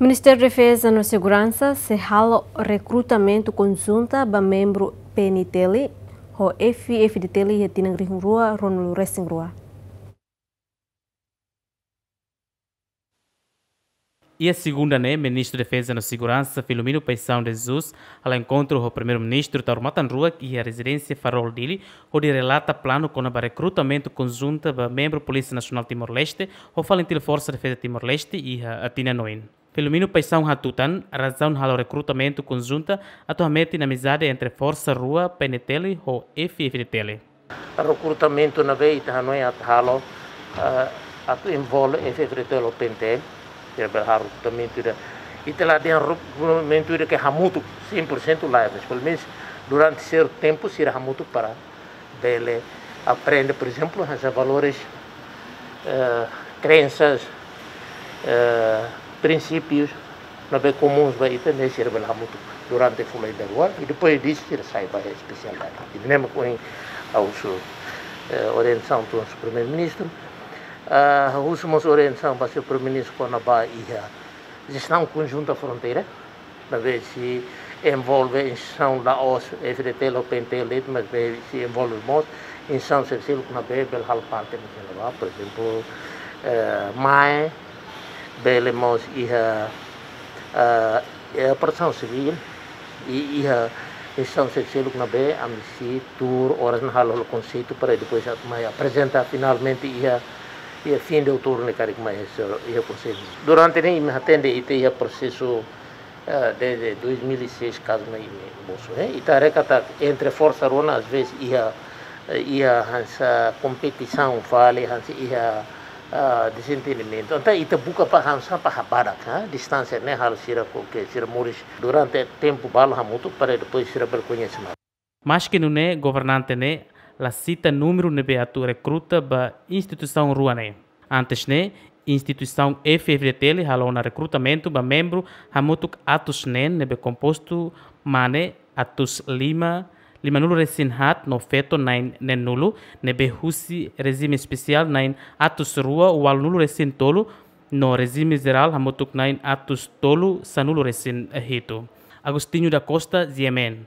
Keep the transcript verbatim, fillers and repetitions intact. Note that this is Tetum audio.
Ministériu Defeza no Seguransa sei halo rekrutamentu konjunta ba membru P N T L ho F-FDTL iha tinan rihun rua ruanulu resin rua. Iha segunda ne'e, Ministru Defeza no Seguransa, Filomeno Paixão de Jesus, hala'o enkontru ho Primeiru-Ministru Taur Matan Ruak iha rezidénsia Farol, Dili, hodi relata planu kona-ba rekrutamentu konjunta ba membru Polísia Nasionál Timor-Leste ho FALINTIL, Forsa Defeza Timor-Leste, iha tinan oin. Filomeno Paixão hatutan, razaun halo rekrutamentu konjunta atu hametin amizade entre forsa rua P N T L ho F-FDTL. Rekrutamentu ne'ebé ita hanoin atu halo, eh, atu envolve F-FDTL ho P N T L, ita bele halo rekrutamentu ida. Ita la dehan rekrutamentu ida ke hamutuk, cem por cento lae, mas pelumenus durante sertu tempu sira hamutuk para bele aprende, por ezemplu, hanesan valores, eh, krénsas, eh, prinsípius ne'ebé komuns ba ita, ne'e sira bele hamutuk durante fulan ida rua, i depois disso sira sai ba iha espesialidade. I ne'e mak ohin ha'u husu, eh, orientasaun husi Primeiru-Ministru, ah, husu mós orientasaun ba señór Primeiru-Ministru kona-ba iha jestaun konjunta fronteira, ne'ebé sei envolve instituisaun la'ós F-FDTL ho P N T L de'it, maibé sei envolve mós instituisaun seluk ne'ebé bele halo parte ne'e, por ezemplu, eh, MAE, bele mós iha, eh, iha Protesaun Sivíl, i iha instituisaun seluk ne'ebé ami sei tuur oras ne'e halo, halo konseitu para depois atu mai aprezenta finalmente iha, iha fin de outubru ne'e karik mai iha, iha Konsellu. Durante ne'e imi hatene ita iha prosesu, eh, desde dois mil e seis kazu ne'e imi mosu, eh. Ita haree katak entre forsa rua ne'e às vezes iha, eh, iha hanesan kompetisaun fali, hanesan iha, ah, dezentendimentu. Entaun ita buka para hanesan para habadak, ah, distánsia ne'e halo sira ko ke sira moris durante tempu balu hamutuk para depois sira bele koñese malu. Maski nune'e, governante ne'e la sita númeru ne'ebé atu rekruta ba instituisaun rua ne'e. Antes ne'e, instituisaun F-FDTL halo ona rekrutamentu ba membru hamutuk atus neen ne'ebé kompostu mane atus lima, limanulu resin haat no feto na'in neenulu, ne'ebé husi rejime espesiál na'in atus rua ualunulu resin tolu, no rejime jerál hamutuk na'in atus tolu sanulu resin hitu. Agostinho da Costa, G M N.